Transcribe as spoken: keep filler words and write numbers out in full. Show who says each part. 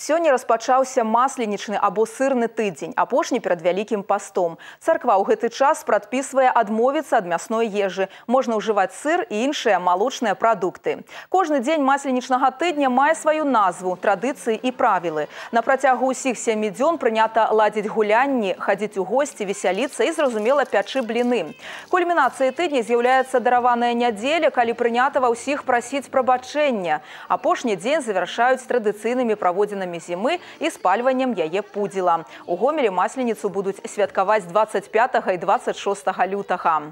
Speaker 1: Сёння распачаўся масленічны або сырны тыдзень, апошні перад вялікім пастом. Царква ў гэты час прадпісвае адмовіцца ад мясной ежы. Можна ўжываць сыр і іншыя малочныя прадукты. Кожны дзень масленічнага тыдня мае сваю назву, традыцыі і правілы. На працягу ўсіх сямі дзён прынята ладзіць гулянні, хадзіць у госці, весяліцца і, зразумела, пячы бліны. Кульмінацыяй тыдня з'яўляецца дараваная нядзеля, калі прынята ва ўсіх прасіць прабачэння. Апошні дзень завяршаюць традыцыйнымі праводзінамі зімы і спальваннем яе пудзіла. У Гомелі масленіцу будуць святкаваць дваццаць пятага і дваццаць шостага лютага.